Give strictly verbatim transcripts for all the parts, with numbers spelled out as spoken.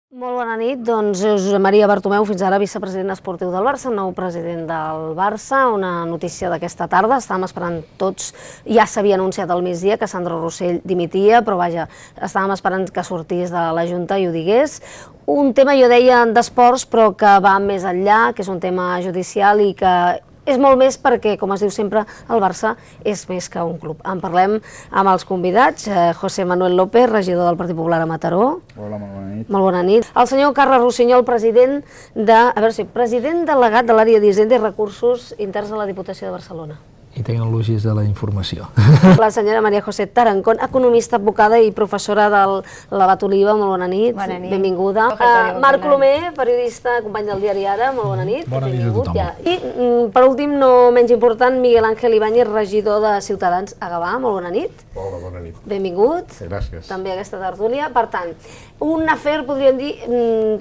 Molt bona nit, doncs Josep Maria Bartomeu, fins ara vicepresident esportiu del Barça, nou president del Barça. Una notícia d'aquesta tarda, estàvem esperant tots, ja s'havia anunciat al migdia que Sandro Rosell dimitia, però vaja, estàvem esperant que sortís de la Junta i ho digués. Un tema, jo deia, d'esports, però que va més enllà, que és un tema judicial i que és molt més perquè, com es diu sempre, el Barça és més que un club. En parlem amb els convidats. José Manuel López, regidor del Partit Popular a Mataró. Hola, molt bona nit. Molt bona nit. El senyor Carles Rossinyol, president de, a veure si, president delegat de l'àrea d'Hisenda i Recursos Interns de la Diputació de Barcelona. I tecnologies de la informació. La senyora Maria José Tarancón, economista, advocada i professora del Labat Oliva. Molt bona nit. Bona nit. Benvinguda. Uh, Marc Colomer, periodista, company del diari Ara. Molt bona nit. Bona nit a tothom. Ja. I, per últim, no menys important, Miguel Ángel Ibáñez, regidor de Ciutadans a Gavà. Molt bona nit. Hola, bona nit. Benvingut. Gràcies. També a aquesta tertúlia. Per tant, un afer, podríem dir,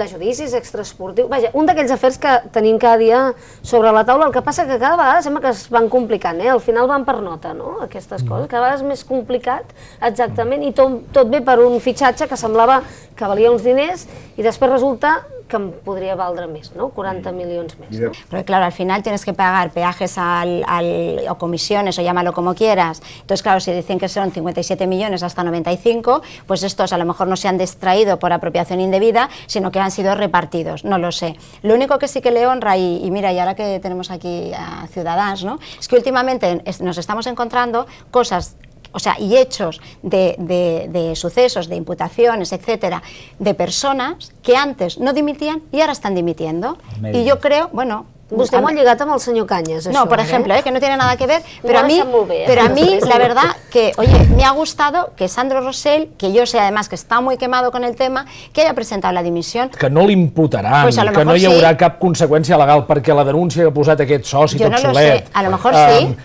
de judicis extraesportius. Vaja, un d'aquells afers que tenim cada dia sobre la taula. El que passa que cada vegada sembla que es van complicant, eh? Al final van per nota, no?, aquestes coses. Cada vegada és més complicat, exactament, i tot, tot ve per un fitxatge que semblava que valia uns diners i després resulta que em podria valdre més, ¿no? quaranta milions més, ¿no? Porque claro, al final tienes que pagar peajes al, al, o comisiones, o llámalo como quieras. Entonces, claro, si dicen que son cincuenta y siete millones hasta noventa y cinco, pues estos a lo mejor no se han distraído por apropiación indebida, sino que han sido repartidos, no lo sé. Lo único que sí que le honra, y, y mira, y ahora que tenemos aquí a Ciudadanos, ¿no?, es que últimamente nos estamos encontrando cosas, o sea, y hechos de, de, de sucesos, de imputaciones, etcétera, de personas que antes no dimitían y ahora están dimitiendo. Y yo creo, bueno... Vostè m'ho ha lligat amb el senyor Cañas, això, No, por ejemplo, eh, que no tiene nada que ver, pero a mí, pero a mí la verdad que, oye, me ha gustado que Sandro Rosell, que yo sé además que está muy quemado con el tema, que haya presentado la dimisión. Que no l'imputaran, Pues a lo que no mejor hi haurà sí. cap conseqüència legal perquè la denúncia que ha posat aquest soci Yo tot no lo solet... sé, a lo mejor sí. Um,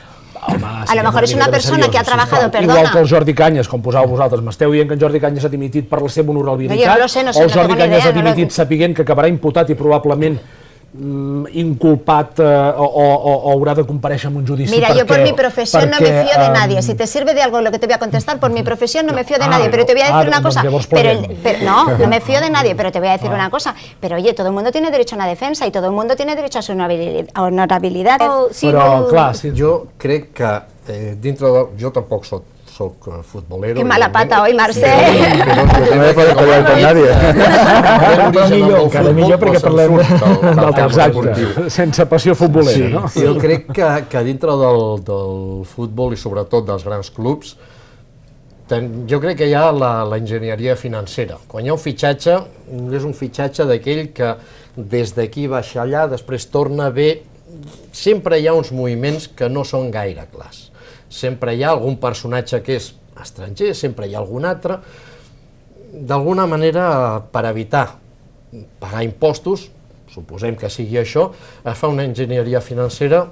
Home, A lo mejor és una persona que ha trabajado, perdona. Igual que el Jordi Cañas, com posàveu vosaltres, m'esteu dient que en Jordi Cañas ha dimitit per la seva honorabilitat, No, jo no lo sé, no sé, o el no Jordi tengo ni Cañas idea, ha dimitit no lo... sapiguent que acabarà imputat i probablement mm, inculpat eh, o, o, o haurà de comparèixer en un judici. Mira, perquè, yo por mi profesión perquè, no me fío de nadie. um, Si te sirve de algo lo que te voy a contestar, por mi profesión no me fío de Ah, nadie. Pero te voy a decir ah, una cosa. doncs llavors Pero, podem. pero, no, no me fío de nadie, pero te voy a decir Ah. una cosa. Pero oye, todo el mundo tiene derecho a una defensa y todo el mundo tiene derecho a su honorabilidad. honorabilidad. Oh, sí, Però, vol- clar, sí, Jo crec que eh, dintre de... Jo tampoc soc, soc eh, futbolero. Qué mala evidentment. pata hoy, Marcel. Però No me puedes pelear con nadie. Encara millor, encara millor perquè parlem del del tema exacte, esportiu. sense passió futbolera, no? Jo crec que, que dintre del, del futbol i sobretot dels grans clubs, ten, jo crec que hi ha la, la enginyeria financera. Quan hi ha un fitxatge, és un fitxatge d'aquell que des d'aquí baixa allà, després torna bé. Sempre hi ha uns moviments que no són gaire clars. Sempre hi ha algun personatge que és estranger, sempre hi ha algun altre. D'alguna manera, per evitar pagar impostos, suposem que sigui això, es fa una enginyeria financera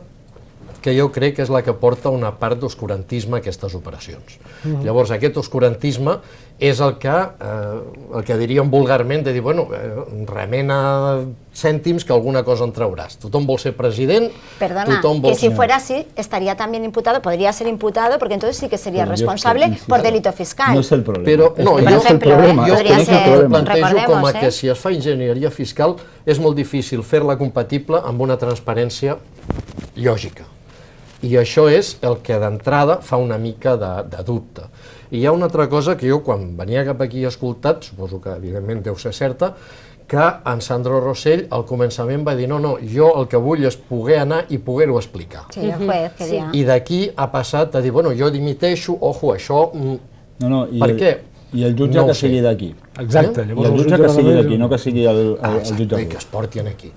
que jo crec que és la que porta una part d'oscurantisme a aquestes operacions. Mm-hmm. Llavors, aquest oscurantisme és el que, eh, el que diríem vulgarment, de dir, bueno, eh, remena cèntims que alguna cosa en trauràs. Tothom vol ser president, Perdona, tothom vol que si ser... fuera así, estaría también imputado, podría ser imputado, porque entonces sí que sería Pero yo responsable es que, por insisto, delito fiscal. No es el problema. Però, no, Es que jo, no es el ejemplo, problema. eh, jo podria es que crec no es que el ho problema. plantejo com a Recordemos, que eh? si es fa enginyeria fiscal és molt difícil fer-la compatible amb una transparència lògica. I això és el que d'entrada fa una mica de, de dubte. I hi ha una altra cosa que jo, quan venia cap aquí escoltat, suposo que evidentment deu ser certa, que en Sandro Rosell al començament va dir no, no, jo el que vull és poder anar i poder-ho explicar. Sí, el juez quería. I d'aquí ha passat a dir, bueno, jo dimiteixo, ojo, això... mm, No, no, i per el, què? I el jutge No ho que sé. sigui d'aquí. Exacte. I el jutge que sigui d'aquí, no que sigui el, el, Ah, el jutge exacte, i d'aquí. que es portin aquí.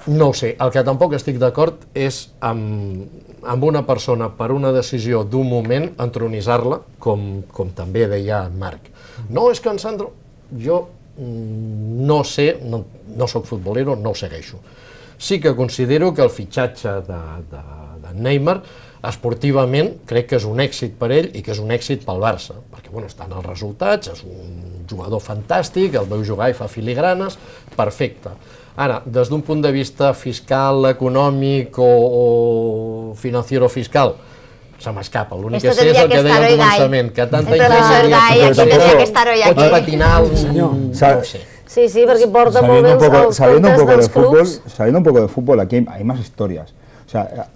No ho sé, el que tampoc estic d'acord és amb, amb una persona per una decisió d'un moment entronitzar-la, com, com també deia en Marc. No, és que en Sandro... Jo mm, no sé, no, no soc futbolero, no ho segueixo. Sí que considero que el fitxatge de, de, de Neymar esportivament crec que és un èxit per ell i que és un èxit pel Barça, perquè bueno, estan els resultats, és un jugador fantàstic, el veu jugar i fa filigranes, perfecte. Ara, des d'un punt de vista fiscal, econòmic o, o financiero fiscal, se m'escapa. L'únic que Esto sé és tendría el que que deia estar al hoy Guy. començament, que tanta El profesor enginyeria Guy, fiscal, aquí tendría que estar hoy pots aquí. patinar, Senyor, no ho sé. Sí, sí, perquè porta molt Saliendo bé un poco, els saliendo un comptes poco de dels fútbol, clubs. saliendo un poco de fútbol, aquí hay, hay más historias. O sea,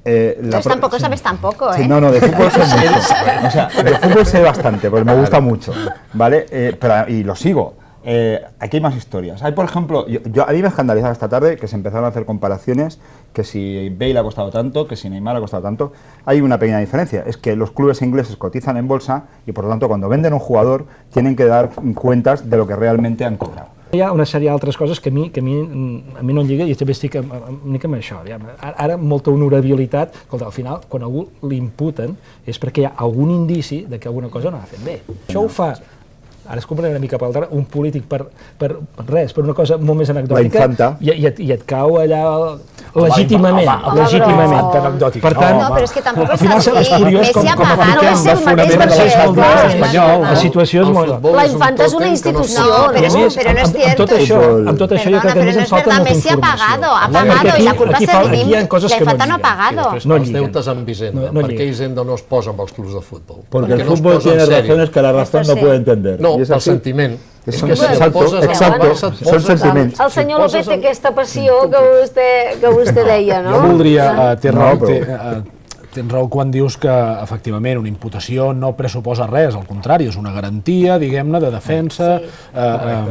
eh, la Entonces pro- tampoco sí. sabes tampoco, ¿eh? Sí, no, no, de fútbol sé mucho. O sea, de fútbol sé bastante, porque me gusta mucho, ¿vale? Eh, pero, y lo sigo. Eh, aquí hay más historias. Hay, por ejemplo, yo, yo- a mí me escandalizaba esta tarde que se empezaron a hacer comparaciones, que si Bale ha costado tanto, que si Neymar ha costado tanto. Hay una pequeña diferencia, es que los clubes ingleses cotizan en bolsa y por lo tanto cuando venden un jugador tienen que dar cuentas de lo que realmente han cobrado. Hi ha una sèrie d'altres coses que a mi, que a mi, a mi no em lliga i també estic amb, amb, una mica amb això. Aviam, ara, ara molta honorabilitat, escolta, al final, quan algú l'imputen és perquè hi ha algun indici de que alguna cosa no ha fet bé. Això ho fa, ara es compraré una mica per l'altre, un polític per, per res, per una cosa molt més anecdòtica, La infanta. i, i, et, i et cau allà legítimament, home, home, legítimament. però- anecdòtica. Per tant, No, però és que tampoc al és final així. és curiós com, Messi ha com pagat. apliquem No és el el fonament mateix de perquè, l'estat clar, espanyol. La situació és El molt... futbol La és un infanta és una tòtem que no institució, s'ha- No, pero I a eso- més, pero no amb, es amb tot cierto. això, amb tot això jo Perdona, crec que a pero més no ens es falta verdad, molta Messi ha informació. pagado, ha Perquè pagado aquí- y la culpa aquí es fa- de aquí hi ha coses la que no infanta no ha lliguen. pagado. Després No els lliguen. deutes amb Hisenda. No- no per què lliguen. Hisenda no es posa amb els clubs de futbol? Porque Per què el no es fútbol posa en tiene sèrio? razones que la razón Esto no sí. puede entender. No, Y es el así. sentiment. És que si Exacto, et poses amb el exacto. Barça, et Son poses amb... sentiments. El senyor Si López poses té amb- aquesta passió que vostè, que vostè deia, no? Jo voldria... Uh, té No, raó, però- té, uh, tens raó quan dius que, efectivament, una imputació no pressuposa res, al contrari, és una garantia, diguem-ne, de defensa Sí. eh, eh,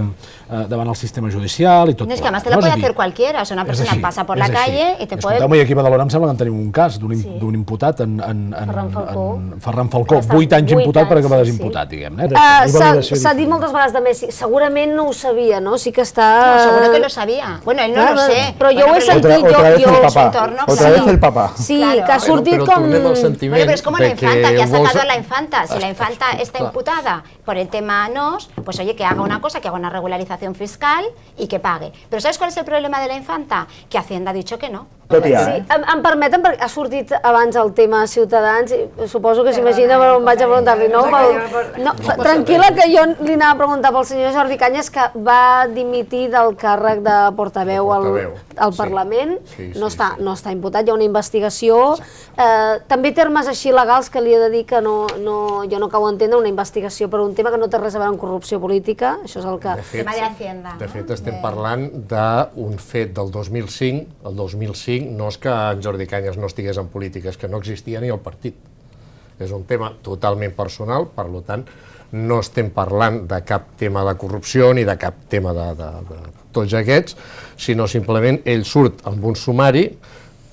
eh, davant el sistema judicial i tot No, es que plegat. además te la No, és puede a dir, hacer cualquiera, o sea, una és persona així, pasa por és la així. calle y te puede... Escolteu-me, i aquí a Badalona em sembla que en tenim un cas d'un Sí. d'un imputat en, en, en, Ferran Falcó. en Ferran Falcó, Ha estat vuit anys vuit imputat per anys, acabar sí, desimputat, sí. diguem-ne. Eh? Uh, I S'ha validació s'ha dit diferent. moltes vegades de Messi, segurament no ho sabia, no? Sí que està... No, seguro que lo sabía. Bueno, él no Clar, lo sé. però jo Bueno, ho he pero sentit, Otra, jo... otra vez jo el su papá. entorno, Otra sí. vez el papá. Sí, Claro. que ha Bueno, sortit però com... tornem al sentiment Bueno, pero es como de la infanta, que ha vols- sacado a la infanta. Si la infanta está Clar. imputada por el tema N O S, pues oye, que haga una cosa, que haga una regularización fiscal y que pague. Pero ¿sabes cuál es el problema de la infanta? Que Hacienda ha dicho que no. Tot hi ha, Sí, eh? em, em permeten, perquè ha sortit abans el tema Ciutadans, i suposo que s'imagina per on vaig a preguntar-li, no? Pel, no tranquil·la, que jo li anava a preguntar pel senyor Jordi Cañas, que va dimitir del càrrec de portaveu al, Portaveu, al sí. Parlament, Sí, sí, no, està, sí. no està imputat, hi ha una investigació, eh, també termes així legals que li he de dir que no, no, jo no acabo d'entendre, una investigació per un tema que no té res a veure amb corrupció política, això és el que... De fet, Tema de Hacienda. de no? fet estem parlant d'un fet del dos mil cinc. El dos mil cinc no és que en Jordi Cañas no estigués en política, és que no existia ni el partit. És un tema totalment personal, per tant, no estem parlant de cap tema de corrupció ni de cap tema de, de, de tots aquests, sinó simplement ell surt amb un sumari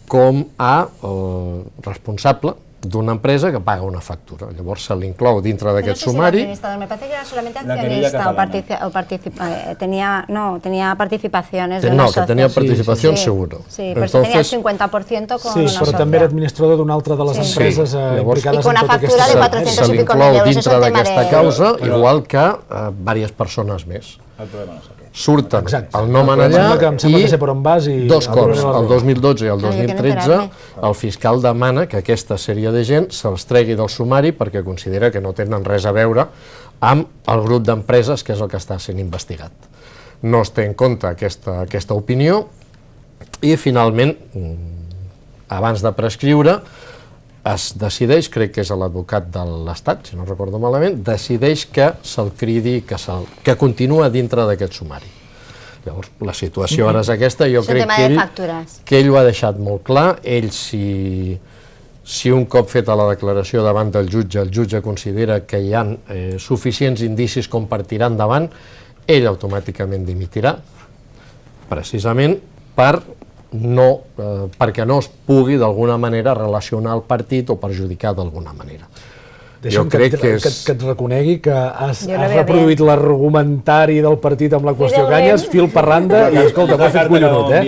com a eh, responsable d'una empresa que paga una factura. Llavors se l'inclou dintre No d'aquest sé si era sumari. administrador, me parece que era solamente La querella accionista o, catalana. partici- o participa- eh, tenía, no, tenía participaciones de Te- una no, que tenía asociación. participación Sí, seguro. Sí, pero tenía el Entonces- cincuenta por ciento con Sí, una però socia. també era administrador d'una altra de les Sí. empreses Sí, eh, llavors- implicades I con en una tota factura aquesta... de Se, cuatrocientos se y pico l'inclou mil euros, dintre és un tema d'aquesta de- causa, Però- igual que eh, diverses persones més. El problema no és aquest. Surten Exacte. el nom en Em sembla allà que- em sembla i que sé per on vas i- dos a cops, veure la el dos mil dotze i el Ah, jo dos mil que no tretze, enterar-me. el fiscal demana que aquesta sèrie de gent se'ls tregui del sumari perquè considera que no tenen res a veure amb el grup d'empreses que és el que està sent investigat. No es té en compte aquesta, aquesta opinió i finalment, mm, abans de prescriure, es decideix, crec que és l'advocat de l'Estat, si no recordo malament, decideix que se'l cridi, que, se que continua dintre d'aquest sumari. Llavors, la situació ara és aquesta, jo És un crec tema que de ell, factures. que ell ho ha deixat molt clar, ell si, si un cop feta la declaració davant del jutge, el jutge considera que hi ha eh, suficients indicis com per tirar endavant, ell automàticament dimitirà, precisament per no, eh, perquè no es pugui d'alguna manera relacionar el partit o perjudicar d'alguna manera. Deixa'm Jo que, crec et- que que, és- que et reconegui que has, Jo lo has veo reproduït l'argumentari del partit amb la qüestió Fidel Canyes, Rem. fil per randa, i escolta, m'ha fet collonut, eh?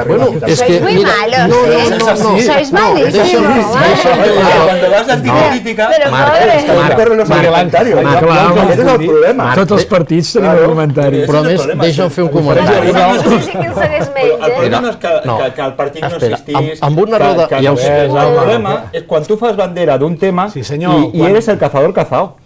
Bueno, és Sois que, muy mira, malos, no, ¿eh? no, no, no, Sois no, malísimos. deixa'm- deixa'm dir una cosa. Cuando vas de anticrítica, Pero Marc, madre... Marc, corren los Marc, argumentarios. Marc, Ese Marc, es el problema. Tots els partits tenim Claro. argumentari. Però a és el més, problema, deixa'm sí. fer un No, comentari. no, no sé si qui el segueix menys, El eh? problema no és que, no. que, que el partit no Espera, existís, amb- amb una roda- que, que ja no ho sé. sé. El problema és quan tu fas bandera d'un tema Sí, senyor, i, i quan- eres el cazador cazado.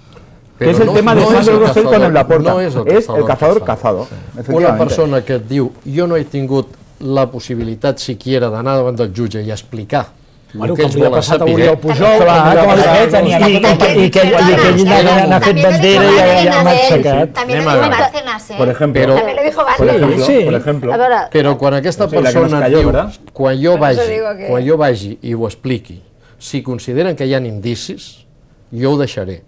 Que Però és el no- tema de no és Sandro el Rosell con cazador, el Laporta. no és el és el cazador cazador cazado. cazado. Una efectivamente. persona que et diu jo no he tingut la possibilitat siquiera d'anar davant del jutge i explicar Bueno, que ells com li ha volen passat a saber... Oriol Pujol, Clar, com li ha com passat- aquests, i- ni a i- i- i que ell n'ha fet bandera i ja- ja m'ha aixecat. También Anem lo a dijo veure. Bárcenas, ¿eh? Por ejemplo, Pero- También lo dijo por Bárcenas. ejemplo, Sí. por ejemplo, A veure, Però quan aquesta Sí, la que nos persona cayó, diu, ¿verdad? quan jo Per això vagi, digo que- quan jo vagi i ho expliqui, si consideren que hi ha indicis, jo ho deixaré.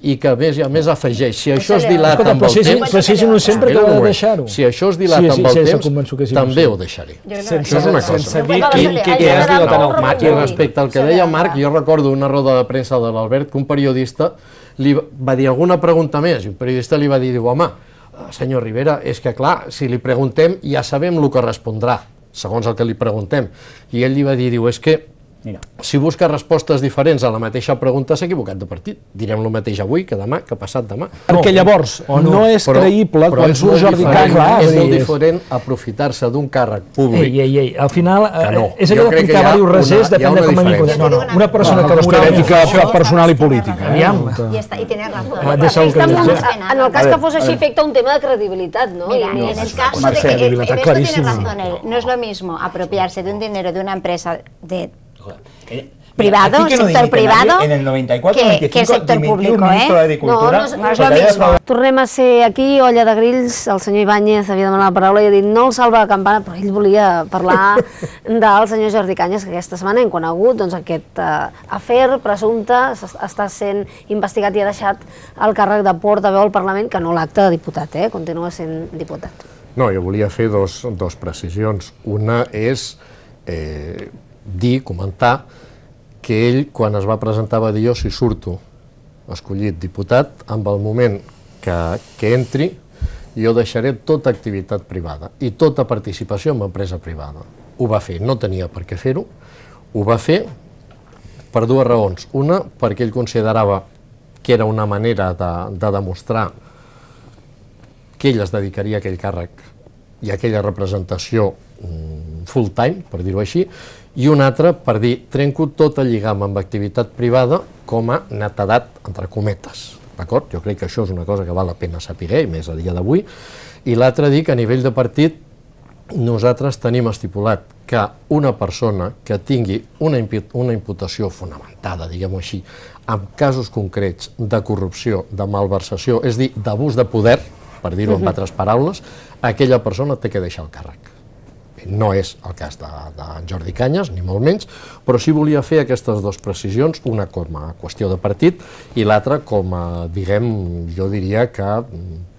I que a més, a més afegeix, si això es dilata Escolta, amb però el si és, temps... però si és innocent, per què Espera ho ha un de moment. deixar-ho? Si això es dilata Sí, sí, amb el sí, estic temps, convençut que és també innocent. ho deixaré. Yo creo que Sense, no. és una sense cosa. dir No, qui, vale, qui, ha qui és generat dilatant molt el I màquina. respecte al que deia Marc, jo recordo una roda de premsa de l'Albert que un periodista li va dir alguna pregunta més, i un periodista li va dir, diu, home, senyor Rivera, és que clar, si li preguntem ja sabem el que respondrà, segons el que li preguntem. I ell li va dir, diu, és que mira, si busca respostes diferents a la mateixa pregunta s'ha equivocat de partit. Direm el mateix avui que demà, que passat demà. Perquè llavors o no, no. és Però- creïble però quan és surt molt Jordi diferent- Cañas. És sí, molt és- diferent aprofitar-se d'un càrrec públic. Ei, ei, ei, al final Que eh, no. és Jo allò de crec que pintar hi ha diversos una- rasers, hi ha depèn de una com a mi diferència. No, no, una persona No, que no és moralment ètica fa això, personal i política. eh? Aviam. Y, está, y tienes razón. Ah, deixa-ho que Està digui. molt- en el cas A que ver, fos a així, ver. afecta un tema de credibilitat, no? Mira, I en el caso Marcel, de que, en está esto clarísimo. tiene razón él, no es lo mismo apropiarse de un dinero de una empresa de eh, privado, aquí que no sector dimite privado, nadie, en el noventa y cuatro, que- noventa y cinco, que sector dimitió público, un ministro ¿eh? de Agricultura. No, no és- no és lo porque había mismo. defraudado- Tornem a ser aquí, olla de grills, el senyor Ibáñez havia demanat la paraula i ha dit no el salva la campana, però ell volia parlar del senyor Jordi Cañas, que aquesta setmana hem conegut doncs, aquest uh, afer presumpte, s'es- està sent investigat i ha deixat el càrrec de portaveu al Parlament, que no l'acte de diputat, eh? Continua sent diputat. No, jo volia fer dos, dos precisions. Una és eh, dir, comentar, que ell, quan es va presentar, va dir jo, si surto escollit diputat, amb el moment que, que entri, jo deixaré tota activitat privada i tota participació en empresa privada. Ho va fer, no tenia per què fer-ho, ho va fer per dues raons. Una, perquè ell considerava que era una manera de, de demostrar que ell es dedicaria a aquell càrrec i a aquella representació mm, full time, per dir-ho així, i un altre per dir, trenco tot el lligam amb activitat privada com a netedat, entre cometes. D'acord? Jo crec que això és una cosa que val la pena saber, i més a dia d'avui. I l'altre dir que a nivell de partit nosaltres tenim estipulat que una persona que tingui una, impu una imputació fonamentada, diguem-ho així, en casos concrets de corrupció, de malversació, és a dir, d'abús de poder, per dir-ho en altres paraules, aquella persona té que deixar el càrrec. No és el cas de, de Jordi Cañas, ni molt menys, però sí volia fer aquestes dues precisions, una com a qüestió de partit i l'altra com a, diguem, jo diria que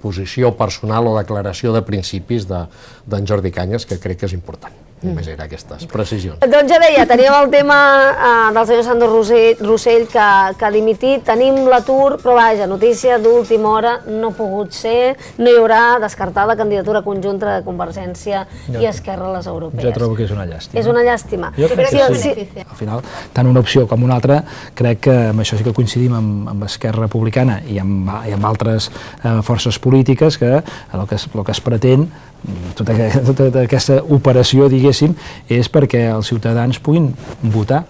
posició personal o declaració de principis d'en de, Jordi Cañas, que crec que és important. Només era aquestes precisions. Doncs ja deia, teníem el tema eh, del senyor Sandro Rossell, Rossell que, que ha dimitit, tenim l'atur, però vaja, notícia d'última hora, no ha pogut ser, no hi haurà descartat la candidatura conjunta de Convergència i Esquerra a les europees. Jo trobo que és una llàstima. És una llàstima. Jo crec Sí, que sí. sí. Al final, tant una opció com una altra, crec que amb això sí que coincidim amb, amb Esquerra Republicana i amb, i amb altres eh, forces polítiques que el que es, el que es pretén, tota, tota aquesta operació, diguéssim, és perquè els ciutadans puguin votar.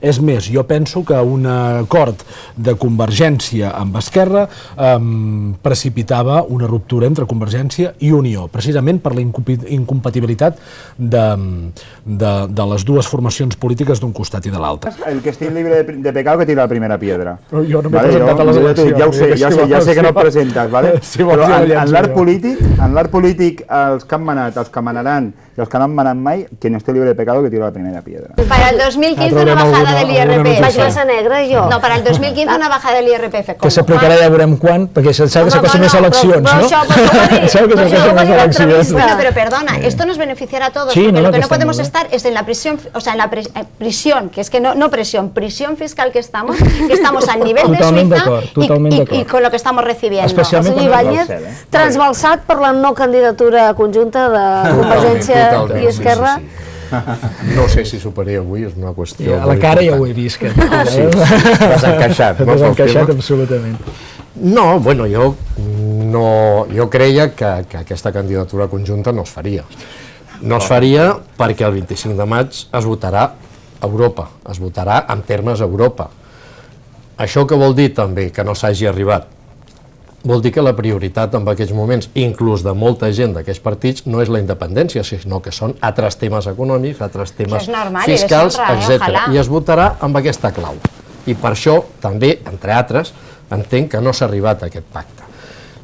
És més, jo penso que un acord de Convergència amb Esquerra eh, precipitava una ruptura entre Convergència i Unió, precisament per la incompatibilitat de, de, de les dues formacions polítiques d'un costat i de l'altre. El que estigui libre de, de pecado que tira la primera piedra. Però jo no m'he Vale, presentat jo- a les jo- eleccions. Ja ho sé, ja, Si sé, ja vols, sé que no si et presentes, vale? si vols, Però jo en, llenço en l'art jo. polític, en l'art polític, els que han manat, els que manaran i els que no han manat mai, que no esté libre de pecado que tira la primera piedra. Para el dos mil quince Ah, una traurem bajada alguna- del alguna I R P F. Vaig massa negra, jo. No, para el dos mil quince una bajada del I R P F. Que s'aplicarà ja veurem quan, perquè se sap que Home, s'acosten no, més no, eleccions, però- però no? això- però això ho va dir- Sap que però això ho s'acosten va més dir eleccions. l'entrevista. Bueno, pero perdona, esto nos beneficiará a todos, Sí, porque no, lo no, que que no está podemos muy bien. estar es en la prisión, o sea, en la pres- eh, prisión, que es que no, no presión, prisión fiscal que estamos, que estamos al nivel de Totalment Suiza d'acord, y- totalment y, d'acord. y con lo que estamos recibiendo. El Especialment senyor quan- Ibáñez, Del cel, eh? transbalsat per la no candidatura conjunta de Convergència totalment, i Esquerra. sí, sí, sí. No sé si superé avui, és una qüestió... Ja, a la molt cara ja important. ho he vist. Que, Sí, t'has encaixat, no, pel Desencaixat, tema? absolutament. No, bueno, jo, no, jo creia que, que aquesta candidatura conjunta no es faria. No es faria perquè el vint-i-cinc de maig es votarà a Europa, es votarà en termes Europa. Això què vol dir també? Que no s'hagi arribat vol dir que la prioritat en aquests moments, inclús de molta gent d'aquests partits, no és la independència, sinó que són altres temes econòmics, altres temes fiscals, etcètera. I es votarà amb aquesta clau. I per això, també, entre altres, entenc que no s'ha arribat a aquest pacte.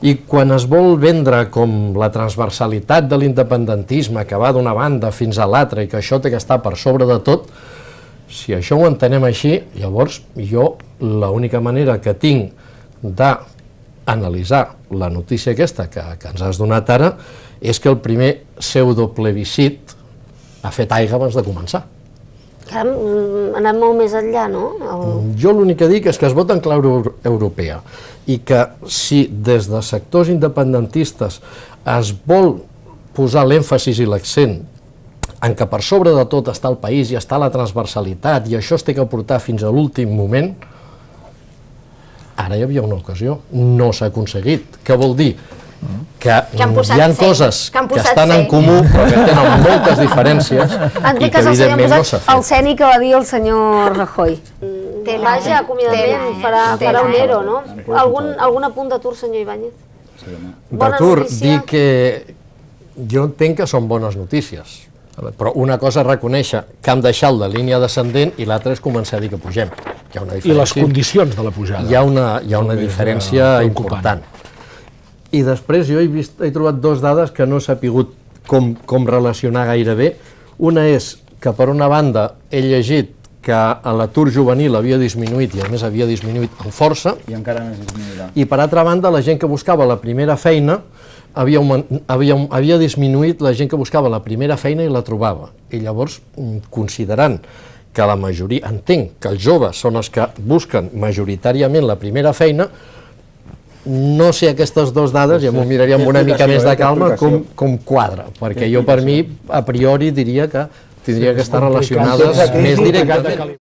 I quan es vol vendre com la transversalitat de l'independentisme que va d'una banda fins a l'altra i que això té que estar per sobre de tot, si això ho entenem així, llavors jo l'única manera que tinc d'analitzar la notícia aquesta que, que ens has donat ara és que el primer pseudoplebiscit ha fet aigua abans de començar. Que ha anat molt més enllà, no? El... Jo l'únic que dic és que es vota en clau europea i que si des de sectors independentistes es vol posar l'èmfasis i l'accent en què per sobre de tot està el país i està la transversalitat i això es té que portar fins a l'últim moment, ara hi havia una ocasió, no s'ha aconseguit. Què vol dir? Que hi ha coses que estan en comú però que tenen moltes diferències i que evidentment no s'ha fet. El ceni que va dir el senyor Rajoy. Vaja, acomiadament, farà un ero, no? Algun apunt d'atur, senyor Ibáñez? D'atur, dir que jo entenc que són bones notícies, però una cosa és reconèixer que hem deixat la línia descendent i l'altra és començar a dir que pugem. I les condicions de la pujada. Hi ha una diferència important. I després jo he, vist, he trobat dues dades que no he sapigut com, com relacionar gaire bé. Una és que per una banda he llegit que l'atur juvenil havia disminuït i a més havia disminuït amb força. I encara més disminuirà. I per altra banda la gent que buscava la primera feina havia, havia, havia disminuït la gent que buscava la primera feina i la trobava. I llavors, considerant que la majoria, entenc que els joves són els que busquen majoritàriament la primera feina, no sé aquestes dues dades, i m'ho miraria amb una mica més de calma, com, com quadra, perquè jo per mi, a priori, diria que tindria que estar relacionades més directament.